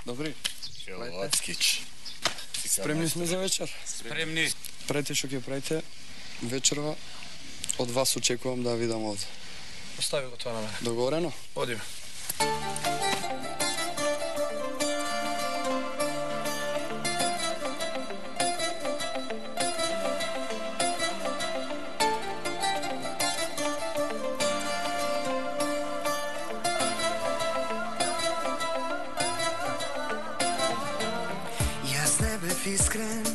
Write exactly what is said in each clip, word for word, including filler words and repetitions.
Добри. Лацкич. Спремни сме за вечер. Спремни. Правите што ќе правите вечерва. Од вас очекувам да видам овде. Остави го тоа на мене. Договорено? Одиме. Искрен,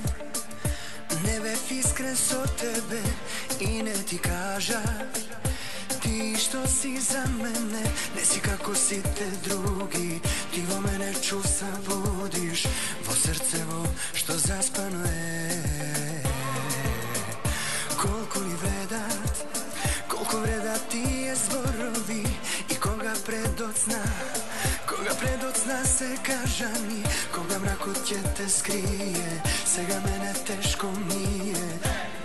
не бев искрен со тебе и не ти кажа ти што си за мене, не си како сите други, ти во мене чувства будиш, во срцево што заспано е. Колку ли вредат, колку вредат тие зборови и кога предоцна, кога предоцна се кажа ни, кога мракот ќе те скрие, сега мене тешко ми е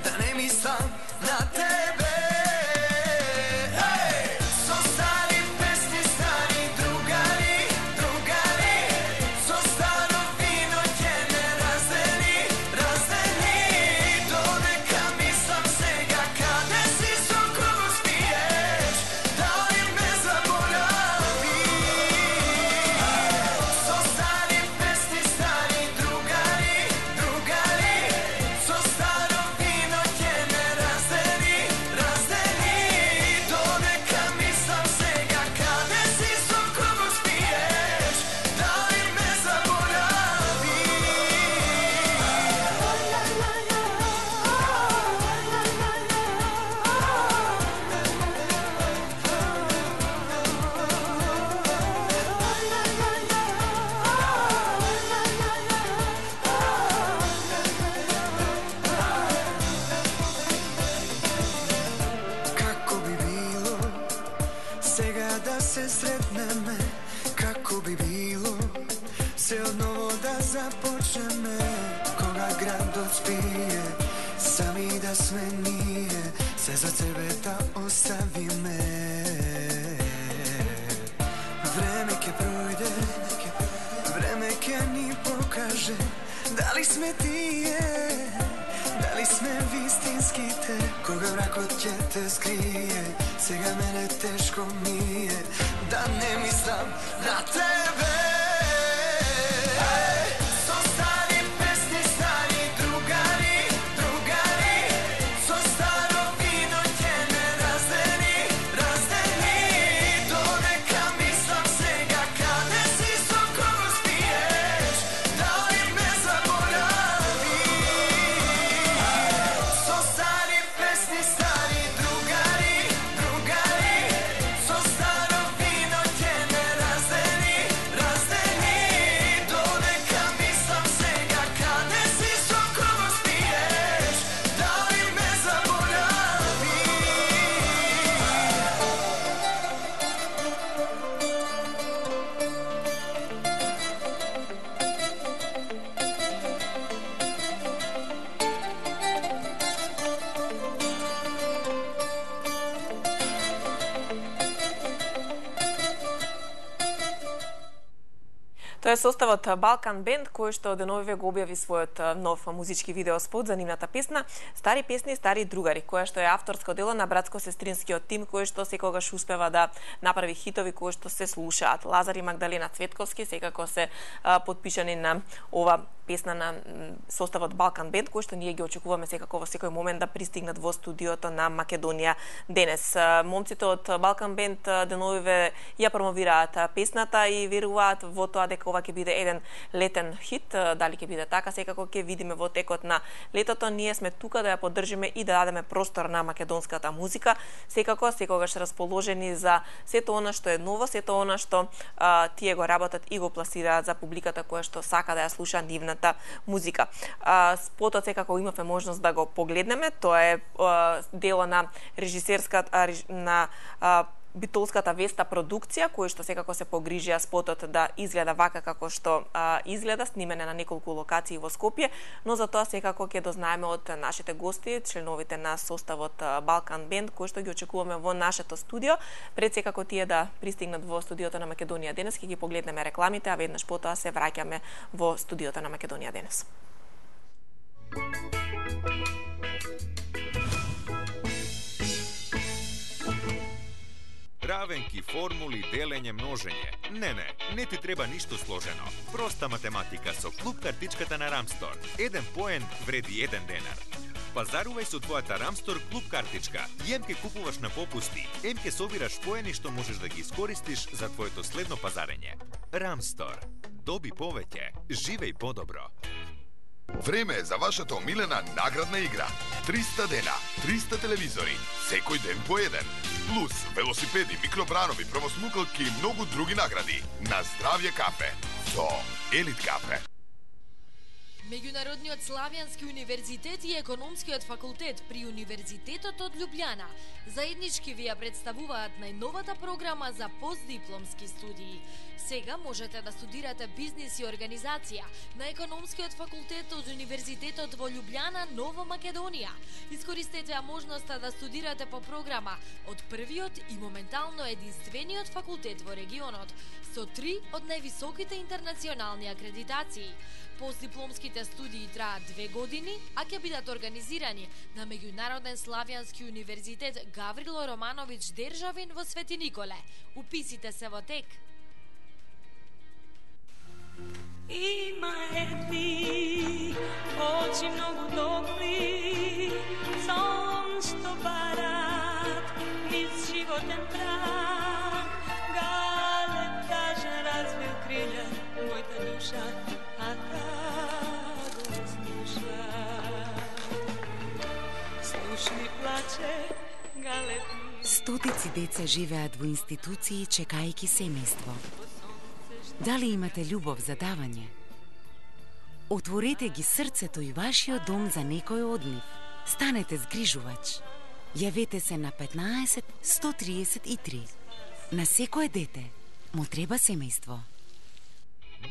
да не мислам на тебе. Се сретнеме, како би било се одново да започнеме, кога градот спие, сами да сме ние, се за тебе да оставиме. Време ќе пројде, време ќе ни покаже дали сме тие, дали сме вистинските, кога мракот ќе те скрие, сега мене тешко ми е да не мислам на тебе. Тоа е составот Балкан Бенд, кој што деновиве го објави својот нов музички видеоспот за нивната песна Стари песни, стари другари, која што е авторско дело на братско-сестринскиот тим кој што секогаш успева да направи хитови кои што се слушаат. Лазар и Магдалена Цветковски секако се подпишани на ова песна на составот Балкан Бенд, кој што ние ги очекуваме секако во секој момент да пристигнат во студиото на Македонија денес. Момците од Балкан Бенд деновиве ја промовираат песната и веруваат во тоа дека ова ќе биде еден летен хит. Дали ќе биде така, секако ќе видиме во текот на летото. Ние сме тука да ја поддржиме и да дадеме простор на македонската музика. Секако секогаш расположени за сето она што е ново, сето она што а, тие го работат и го пласираат за публиката која што сака да ја слуша нивната музика. А, спотот секако имавме можност да го погледнеме. Тоа е а, дело на режисерската на а, битолската Веста продукција, кој што секако се погрижија спотот да изгледа вака како што а, изгледа, снимене на неколку локации во Скопје, но за тоа секако ќе дознаеме од нашите гости, членовите на составот Балкан Бенд, кои што ги очекуваме во нашето студио. Пред секако тие да пристигнат во студиото на Македонија денес, ќе ги погледнеме рекламите, а веднаш потоа се враќаме во студиото на Македонија денес. Равенки, формули, делење, множење. Не, не, не ти треба ништо сложено. Проста математика со клуб картичката на Рамстор. Еден поен вреди еден денар. Пазарувај со твојата Рамстор клуб картичка. Ем ке купуваш на попусти, ем ке собираш поени што можеш да ги искористиш за твоето следно пазарење. Рамстор. Доби повеќе, живеј подобро. Време е за вашата омилена наградна игра. триста дена, триста телевизори, секој ден по еден. Плюс велосипеди, микробранови, правосмукалки и многу други награди. На здравје кафе. Со Елит кафе. Меѓународниот Славјански универзитет и Економскиот факултет при Универзитетот од Љубљана заеднички ви ја представуваат најновата програма за постдипломски студии. Сега можете да студирате бизнис и организација на Економскиот факултет од Универзитетот во Љубљана, Нова Македонија. Искористете ја можноста да студирате по програма од првиот и моментално единствениот факултет во регионот со три од највисоките интернационални акредитации. Постдипломските студии траат две години, а ќе бидат организирани на Меѓународен Славјански универзитет Гаврило Романовиќ Державин во Свети Николе. Уписите се во тек. Има едни очи многу топли, сон што барат низ животен прах. Галеб кажа развил крилја мојата душа, а та го слуша. Слушни плаче галеб. Стотици деца живеат во институции чекајќи семејство. Дали имате љубов за давање? Отворете ги срцето и вашиот дом за некој од нив. Станете згрижувач. Јавете се на петнаесет сто триесет и три. На секое дете му треба семејство.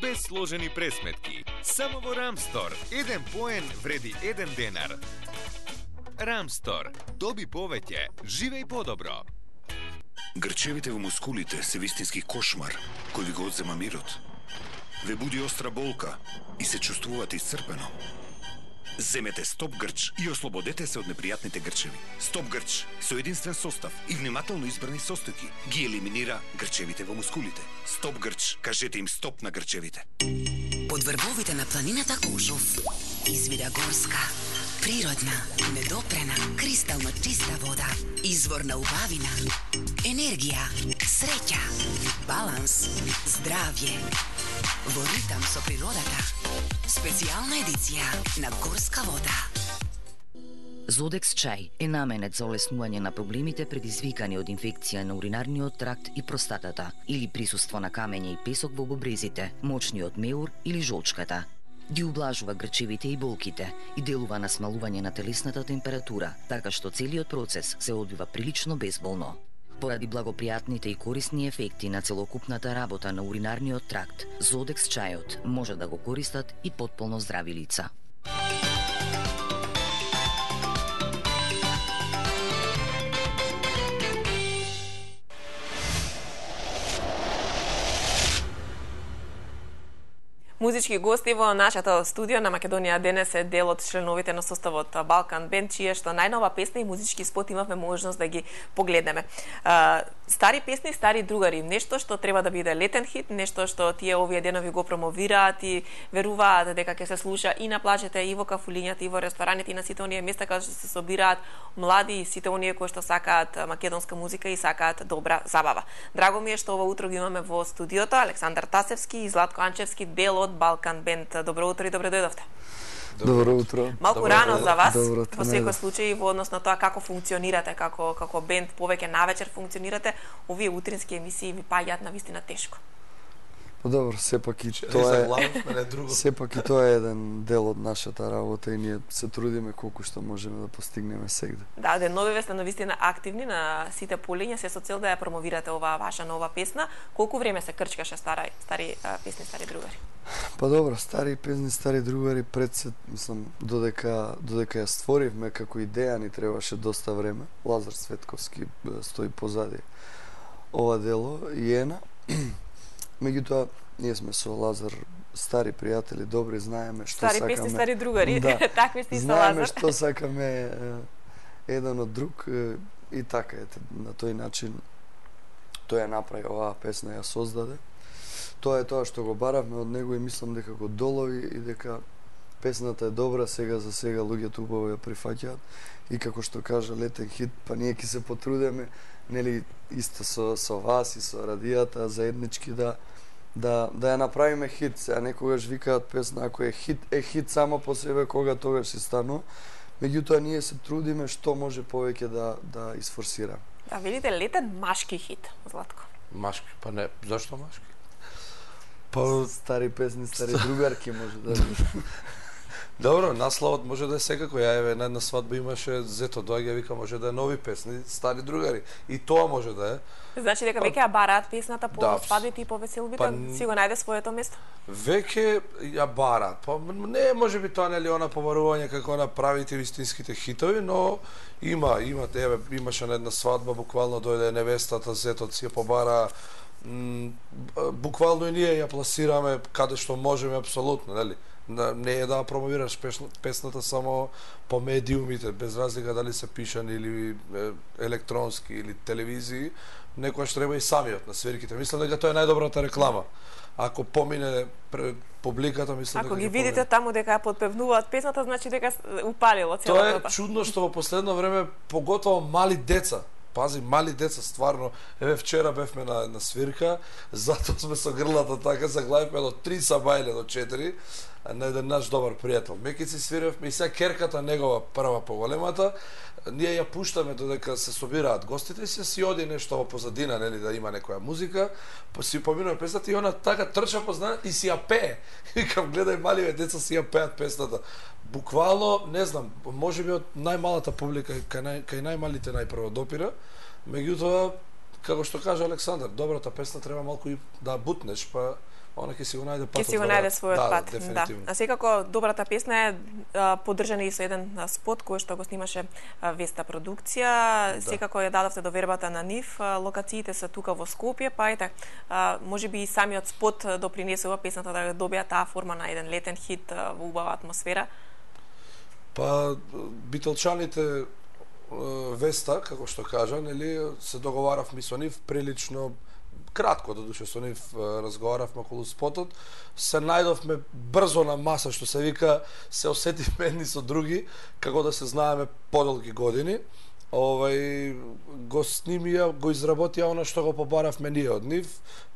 Без сложени пресметки. Само во Рамстор. Еден поен вреди еден денар. Рамстор. Доби повеќе. Живеј подобро. Грчевите во мускулите се вистински кошмар кој ви го одзема мирот. Ве буди остра болка и се чувствувате исцрпено. Земете Стоп Грч и ослободете се од непријатните грчеви. Стоп Грч со единствен состав и внимателно избрани состојки ги елиминира грчевите во мускулите. Стоп Грч, кажете им стоп на грчевите. Под врвовите на планината Кожов извира горска, природна, недопрена, кристално чиста вода, изворна убавина, енергија, среќа, баланс, здравје. Во ритам со природата. Специјална едиција на горска вода. Зодекс чај е наменет за олеснување на проблемите предизвикани од инфекција на уринарниот тракт и простатата или присуство на камење и песок во бобрезите, мочниот меур или жолчката. Ги ублажува грчевите и болките и делува на смалување на телесната температура, така што целиот процес се одвива прилично безболно. Поради благопријатните и корисни ефекти на целокупната работа на уринарниот тракт, Зодекс чајот може да го користат и потполно здрави лица. Музички гости во нашето студио на Македонија денес е дел од членовите на составот Балкан Бенд, чија што најнова песна и музички спот имавме можност да ги погледнеме. Стари песни, стари другари, нешто што треба да биде летен хит, нешто што тие овие денови го промовираат и веруваат дека ќе се слуша и на плажите, и во кафулињата, и во рестораните, и на сите оние места каде што се собираат млади и сите оние кои што сакаат македонска музика и сакаат добра забава. Драго ми е што ова утро ги имаме во студиото Александар Тасевски и Златко Анчевски, дел од Балкан Бенд. Добро утро и добре дојдовте. Добро утро. Малку рано за вас, Добро во секој случај, во однос на тоа како функционирате, како како бенд, повеќе навечер функционирате, овие утрински емисии ви паѓаат на вистина тешко. Па добро, сепак и Тоа тоа е е главно, мене друго. сепак и тоа е еден дел од нашата работа и ние се трудиме колку што можеме да постигнеме сегде. Да, деновиве сте навистина активни на сите полиња, се со цел да ја промовирате оваа ваша нова песна. Колку време се крчкаше стари стари а, песни, стари другари? Па добро, стари песни, стари другари, пред се, мислам, додека, додека ја створивме како идеја ни требаше доста време. Лазар Светковски стои позади ова дело и ена. Меѓутоа, ние сме со Лазар стари пријатели, добри, знаеме што стари сакаме. Стари песни, стари другари, да. такви сте и со Знаеме Лазар. што сакаме е, еден од друг е, и така ете, на тој начин тој ја направи оваа песна, ја создаде. Тоа е тоа што го баравме од него и мислам дека го долови и дека песната е добра, сега за сега луѓето убаво ја прифаќаат и како што кажа летен хит, па ние ќе се потрудеме, нели исто со со вас и со радијата заеднички да да да ја направиме хит. Сега некогаш викаат песна ако е хит, е хит само по себе, кога тогаш се станува. Меѓутоа ние се трудиме што може повеќе да да изфорсира. Да, видите, летен машки хит, Златко. Машки, па не, зашто машки? Па стари песни, стари другарки може да Добро, насловот може да е секако. Ја еве на една свадба имаше зето доаѓа вика може да е нови песни, стари другари. И тоа може да е. Значи дека веќе ја бараат песната по да, свадбите и по веселбите, па, си го најде своето место. Веќе ја бараат. Па не може би тоа нели она побарување како направите вистинските хитови, но има, има еве имаше на една свадба буквално дојде невестата, зетот си ја побара. М, буквално и ние ја пласираме каде што можеме апсолутно, нели? Не е да промовираш песната само по медиумите, без разлика дали се пишани или електронски или телевизии, некојаш треба и самиот на свирките. Мислам дека тоа е најдобрата реклама. Ако помине пред публиката, мислам Ако дека ги видите помине. таму дека ја подпевнуваат песната, значи дека упалило целото. Тоа е чудно што во последно време поготово мали деца. Пази, мали деца, стварно. Еве вчера бевме на, на свирка, затоа сме со грлата така, заглавивме до три сабајле до четири, на еден наш добар пријател. Мекици свиревме и сега керката негова прва поголемата, ние ја пуштаме додека се собираат гостите и се си оди нешто во позадина, нели, да има некоја музика, па си поминува песната и она така трча позна и си ја пее. Викам, гледај маливе деца си ја пеат песната. Буквално, не знам, можеби од најмалата публика кај, нај, кај најмалите најпрво допира, меѓутоа, како што кажа Александар, добрата песна треба малку и да бутнеш, па она ќе си го најде патот. Ќе си го најде својот да, пат. Да, да. А секако добрата песна е а, поддржана и со еден а, спот кој што го снимаше а, Веста продукција. Да. Секако ја дадовте до вербата на нив. А, локациите се тука во Скопје, па ете, а, можеби и самиот спот допринесува песната да добија таа форма на еден летен хит а, во убава атмосфера. Па битолчаните Веста, како што кажа, нели, се договаравме со нив прилично кратко, додуше со нив разговаравме околу спотот, се најдовме брзо на маса, што се вика, се осетивме едни со други, како да се знаеме подолги години. Овај го снимија, го изработија она што го побаравме ние од нив.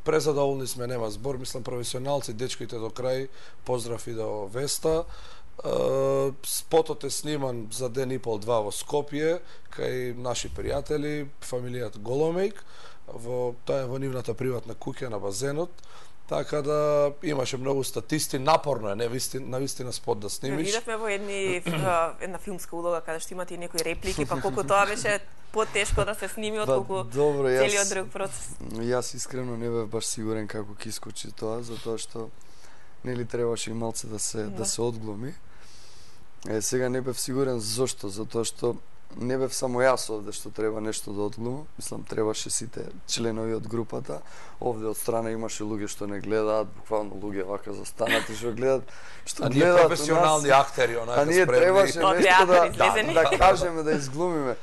Презадоволни сме, нема збор, мислам професионалци, дечките до крај, поздрав и до Веста. Uh, спотот е сниман за ден и пол два во Скопје, кај наши пријатели, фамилијата Голомејк, во тоа е во нивната приватна куќа на базенот. Така да имаше многу статисти, напорно е, не вистина, на вистина спот да снимиш. Видовме во едни една филмска улога каде што имате и некои реплики, па колку тоа беше потешко да се сними од колку целиот друг процес. Јас искрено не бев баш сигурен како ќе искочи тоа, затоа што нели требаше и малце да се да, да се одглуми. Е, сега не бев сигурен зошто, затоа што не бев само јас овде што треба нешто да одглумам. Мислам, требаше сите членови од групата. Овде од страна имаше луѓе што не гледаат, буквално луѓе вака застанати што гледаат, што а гледаат. А ние професионални актери, онака спремни. А ние требаше О, нешто да, да, да, да кажеме, да изглумиме.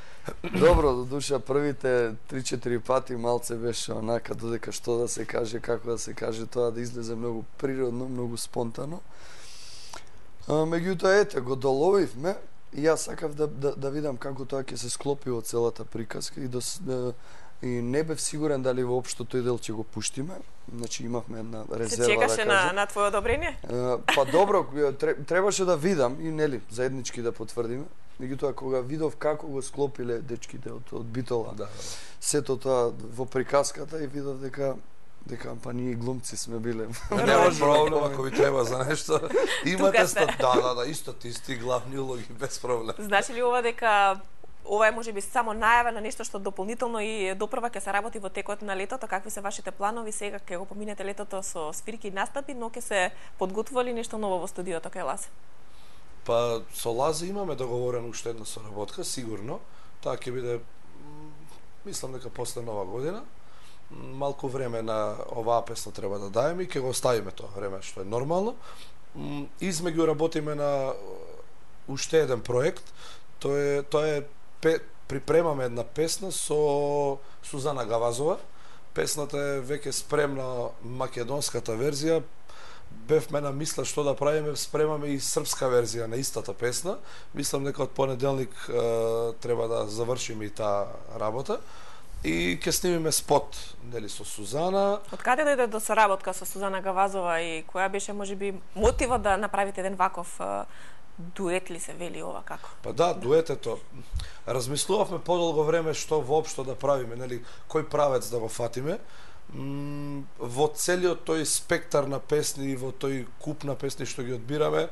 Добро, до душа првите три-четири пати малце беше онака додека што да се каже, како да се каже, тоа да излезе многу природно, многу спонтано. А, меѓутоа, ете, го доловивме и јас сакав да, да, да видам како тоа ќе се склопи во целата приказка и, да, да, и не бев сигурен дали воопшто тој дел ќе го пуштиме. Значи имавме една резерва. Се чекаше да на, на твое одобрение? А, па добро, требаше да видам и нели заеднички да потврдиме. Меѓутоа кога видов како го склопиле дечките од, од Битола, да, сето тоа во приказката и видов дека дека па ние глумци сме биле. Нема проблем ако ви треба за нешто. Имате ста... да, да, да, исто тисти главни улоги без проблем. Значи ли ова дека ова е можеби само најава на нешто што дополнително и допрва ќе се работи во текот на летото? Какви се вашите планови сега ќе го поминете летото со свирки и настапи, но ќе се подготвували нешто ново во студиото кај Лазе? Па со Лазе имаме договорено уште една соработка, сигурно. Таа ќе биде, мислам дека после нова година. Малку време на оваа песна треба да даеме и ќе го оставиме тоа време што е нормално. Измеѓу работиме на уште еден проект. Тоа е тоа е пе, припремаме една песна со Сузана Гавазова. Песната е веќе спремна, македонската верзија. Бевме на мисла што да правиме, спремаме и српска верзија на истата песна. Мислам дека од понеделник е, треба да завршиме и таа работа. И ќе снимиме спот, нели, со Сузана. Од каде дојде до соработка со Сузана Гавазова и која беше можеби мотивот да направите еден ваков дует ли се вели ова како? Па да, дуетето. Размислувавме подолго време што воопшто да правиме, нели, кој правец да го фатиме. М, во целиот тој спектар на песни и во тој куп на песни што ги одбираме,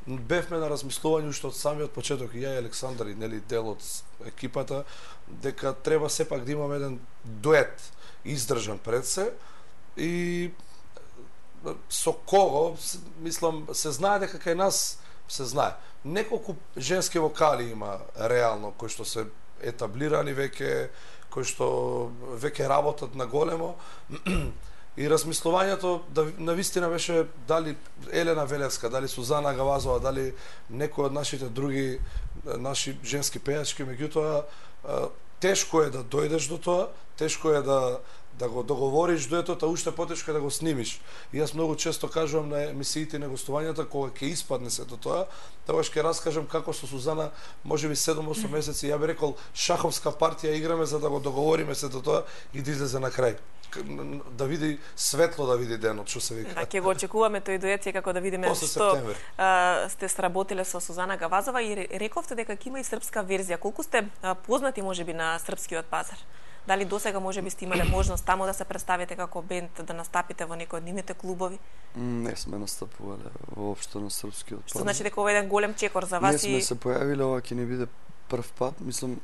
бевме на размислување уште од самиот почеток, и ја и Александар, и нели дел од екипата, дека треба сепак да имаме еден дует издржан пред се и со кого, мислам, се знае дека кај нас се знае. Неколку женски вокали има реално кои што се етаблирани веќе, кои што веќе работат на големо. И размислувањето да навистина беше дали Елена Велевска, дали Сузана Гавазова, дали некој од нашите други наши женски пејачки, меѓутоа тешко е да дојдеш до тоа, тешко е да да го договориш дуетот, а уште потешко е да го снимиш. И јас многу често кажувам на емисиите и на гостувањата кога ќе испадне сето тоа, тогаш ќе раскажам како со Сузана можеби седум-осум месеци, ја би рекол шаховска партија играме за да го договориме сето тоа и да излезе на крај. Да види светло, да види денот, што се вика. Да, ќе го очекуваме тој дует како да видиме После што септември. сте сработиле со Сузана Гавазова и рековте дека ќе има и српска верзија. Колку сте а, познати можеби на српскиот пазар? Дали досега можеби сте имале можност таму да се представите како бенд, да настапите во некој од нивните клубови? Не сме настапувале воопшто на српскиот пазар. Што значи дека ова е еден голем чекор за вас? Не сме и... се појавиле, ова ќе не биде прв пат, мислам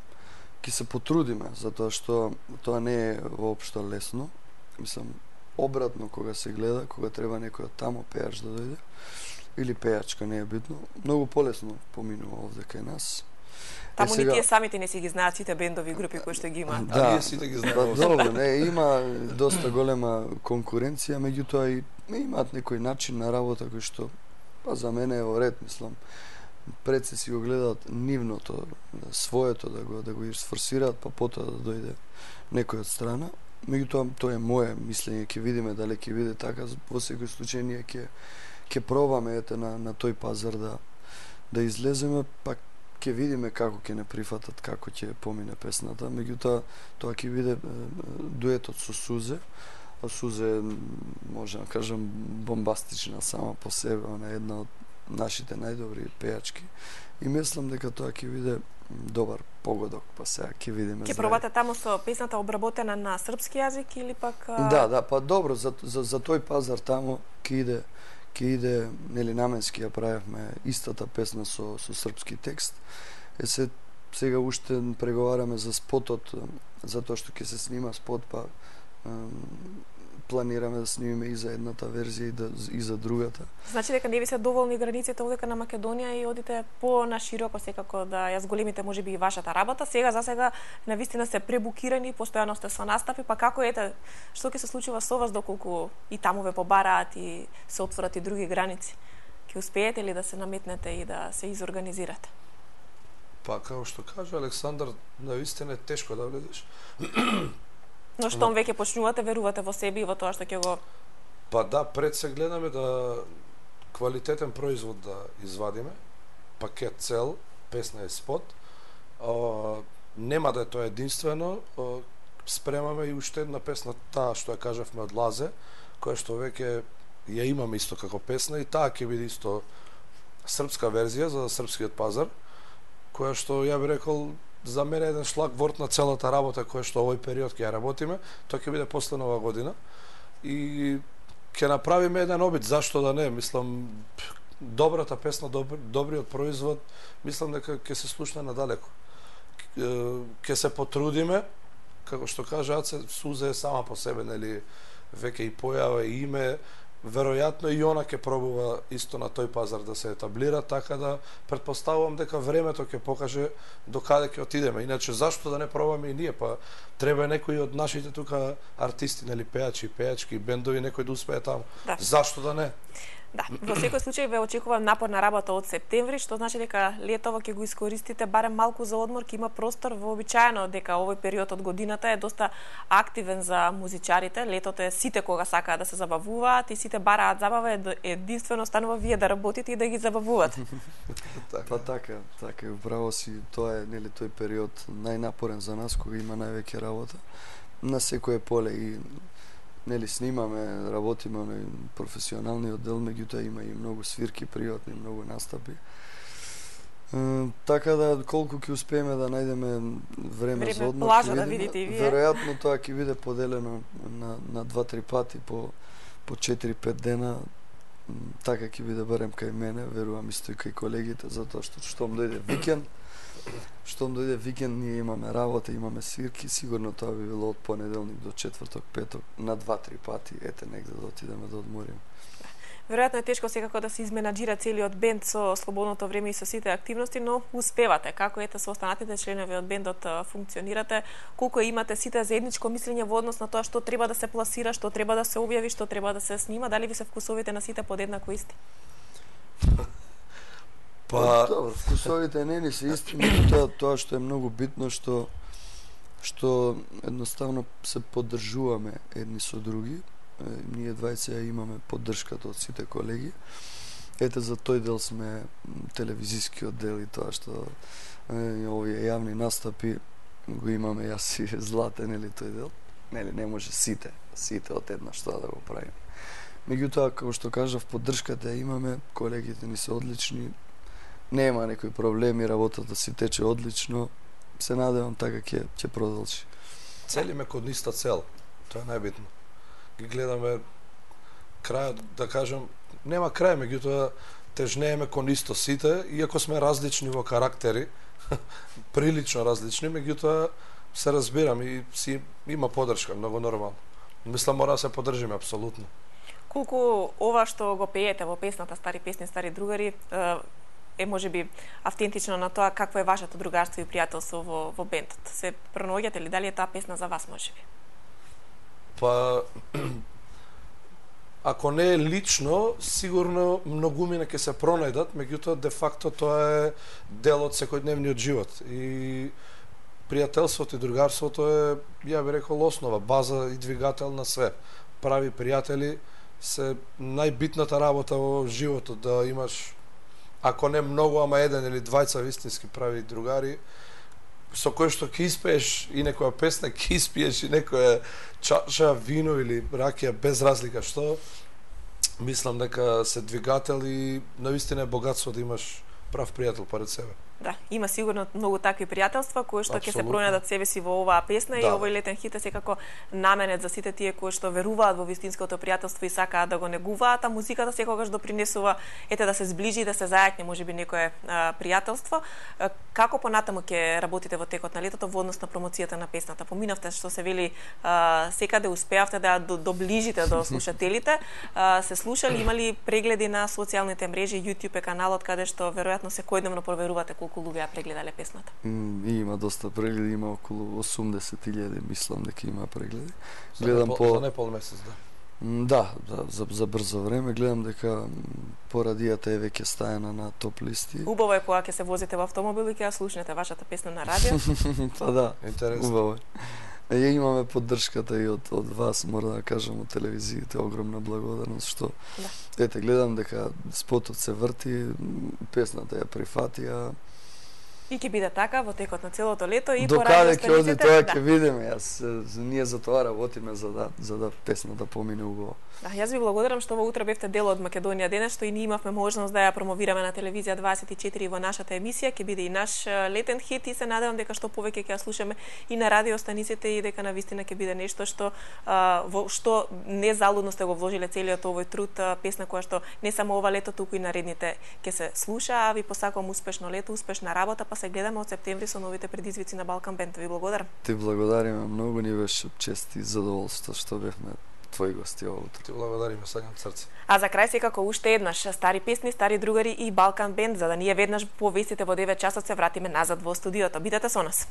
ќе се потрудиме, затоа што тоа не е воопшто лесно. Мислам, обратно кога се гледа, кога треба некој од таму пејач да дојде, или пејачка, не е битно, многу полесно поминува овде кај нас. Таму е, сега... ни тие самите не си ги знаат сите бендови и групи кои што ги имаат. Да, а ние сите ги знаеме. Па добро, не, има доста голема конкуренција, меѓутоа и имаат некој начин на работа кој што па за мене е во ред, мислам. Пред се си го гледаат нивното, своето да го да го сфорсираат, па потоа да дојде некој од страна. Меѓутоа тоа е мое мислење, ќе видиме дали ќе биде така, во секој случај ние ќе ќе пробаме ете на на тој пазар да да излеземе, па ќе видиме како ќе не прифатат, како ќе помине песната. Меѓутоа тоа ќе биде дуетот со Сузе. А Сузе може да кажам бомбастична сама по себе, она е една од нашите најдобри пејачки. И мислам дека тоа ќе биде добар погодок, па сега ќе видиме. Ќе пробате таму со песната обработена на српски јазик или пак а... Да, да, па добро за за, за тој пазар таму ќе иде ќе иде, нели наменски ја правевме истата песна со со српски текст. Е се сега уште преговараме за спотот, затоа што ќе се снима спот, па планираме да снимиме и за едната верзија и, да, и за другата. Значи дека не ви се доволни границите овдека на Македонија и одите по нашироко секако да ја зголемите можеби и вашата работа. Сега за сега навистина сте пребукирани, постојано сте со настапи, па како ете, што ќе се случува со вас доколку и таму ве побараат и се отворат и други граници? Ќе успеете ли да се наметнете и да се изорганизирате? Па како што кажа Александар, навистина е тешко да влезеш. Но штом веќе почнувате, верувате во себе и во тоа што ќе го... Па да, пред се гледаме да квалитетен производ да извадиме, пакет цел, песна и спот. А, нема да е тоа единствено, а, спремаме и уште една песна, таа што ја кажавме од Лазе, која што веќе ја имаме исто како песна и таа ќе биде исто српска верзија за српскиот пазар, која што ја би рекол за мене еден шлаг ворт на целата работа која што овој период ќе ја работиме, тоа ќе биде после нова година. и ќе направиме еден обид, зашто да не, мислам, добрата песна, добр, добриот производ, мислам дека ќе се слушне надалеко. Ќе се потрудиме, како што кажа Аце, Суза е сама по себе, нели, веќе и појава и име, веројатно и она ќе пробува исто на тој пазар да се етаблира, така да претпоставувам дека времето ќе покаже до каде ќе отидеме. Иначе зашто да не пробаме и ние, па треба некои од нашите тука артисти, нели, пеачи, пеачки, бендови, некој да успее таму. Да. Зашто да не? Да, во секој случај ве очекува напорна работа од септември, што значи дека летово ќе го искористите барем малку за одмор, ќе има простор. Вообичаено дека овој период од годината е доста активен за музичарите. Летото е сите кога сакаат да се забавуваат и сите бараат забава, единствено станува вие да работите и да ги забавувате. Па така, така, управо си, тоа е, нели, тој период најнапорен за нас, кога има највеќе работа на секое поле и нели снимаме, работиме на професионалниот дел, меѓутоа има и многу свирки приватни, многу настапи. Е, така да колку ќе успееме да најдеме време, време за одмор, плажа да видите и вие. Веројатно тоа ќе биде поделено на на два-три пати по по четири-пет дена. Така ќе биде барем кај мене, верувам исто и кај колегите, затоа што штом дојде викенд, штом дојде викенд ние имаме работа, имаме свирки, сигурно тоа би било од понеделник до четврток, петок, на два-три пати, ете негде да отидеме да одмориме. Веројатно е тешко секако да се изменаџира целиот бенд со слободното време и со сите активности, но успевате. Како ете со останатите членови од бендот функционирате, колку имате сите заедничко мислење во однос на тоа што треба да се пласира, што треба да се објави, што треба да се снима, дали ви се вкусовите на сите подеднако исти? Па, добро, вкусовите не ни се исти, тоа тоа што е многу битно, што што едноставно се поддржуваме едни со други. Ние двајца имаме поддршката од сите колеги. Ете за тој дел сме телевизискиот дел и тоа што е, овие јавни настапи го имаме јас и Златен или тој дел. Нели не може сите, сите од една што да го правиме. Меѓутоа, како што кажав, поддршката имаме, колегите ни се одлични. Нема некои проблеми, работата си тече одлично. Се надевам така ќе ќе продолжи. Целиме код иста цел. Тоа е најбитно. Ги гледаме крајот, да кажем, нема крај, меѓутоа тежнееме кон исто сите, иако сме различни во карактери, прилично различни, меѓутоа се разбирам и си има поддршка, многу нормално. Мислам мора да се поддржиме апсолутно. Колку ова што го пеете во песната Стари песни, стари другари е можеби автентично на тоа какво е вашето другарство и пријателство во во бендот. Се пронаоѓате ли, дали е таа песна за вас можеби? Па, ако не е лично, сигурно многумина ќе се пронајдат, меѓутоа де факто тоа е дел од секојдневниот живот и пријателството и другарството е, ја би рекол, основа, база и двигател на све. Прави пријатели се најбитната работа во животот, да имаш, ако не многу, ама еден или двајца вистински прави другари, со кој што ќе испееш и некоја песна, ќе испиеш и некоја чаша вино или ракија, без разлика што, мислам дека се двигател и навистина е богатство да имаш прав пријател поред себе. Да, има сигурно многу такви пријателства кои што ќе се пронајдат себе си во оваа песна, да. И овој летен хит е секако наменет за сите тие кои што веруваат во вистинското пријателство и сакаат да го негуваат, а музиката секогаш допринесува ете да се зближи и да се зајакне можеби некое а, пријателство. А, како понатаму ќе работите во текот на летото во однос на промоцијата на песната? Поминавте што се вели а, секаде успеавте да до, доближите до слушателите. А, се слушали, имали прегледи на социјалните мрежи, YouTube е каналот каде што веројатно секојдневно проверувате колку луѓе ја прегледале песната? Mm, има доста прегледи, има околу осумдесет илјади, мислам дека има прегледи. Гледам за по за непол месец, да. Да, да, за за брзо време гледам дека по радијата е веќе стаена на топ листи. Убаво е кога ќе се возите во автомобил и ќе ја слушнете вашата песна на радио. Па да, интересно. Убаво. Ја имаме поддршката и од од вас, мора да кажам, од телевизиите, огромна благодарност што да. Ете гледам дека спотот се врти, песната ја прифатија. И ќе биде така во текот на целото лето и До по каде ќе оди радиостаниците. тоа Да. ќе видиме. Јас е, ние за тоа работиме за да за да песна да помине убаво. Да, јас ви благодарам што во утро бевте дел од Македонија денес, што и ние имавме можност да ја промовираме на телевизија дваесет и четири во нашата емисија. Ќе биде и наш е, летен хит и се надевам дека што повеќе ќе ја слушаме и на радиостаниците и дека навистина ќе биде нешто што а, во што незалудно сте го вложиле целиот овој труд, а, песна која што не само ова лето, туку и наредните ќе се слуша, а ви посакувам успешно лето, успешна работа, па се гледаме од септември со новите предизвици на Балкан Бенд. Ви благодарам. Ти благодариме многу, ни беше чест и задоволство што бевме твои гости ово утро. Ти благодариме саѓа од срце. А за крај секако уште еднаш стари песни, стари другари и Балкан Бенд, за да ние веднаш по вестите во девет часот се вратиме назад во студиото. Бидете со нас.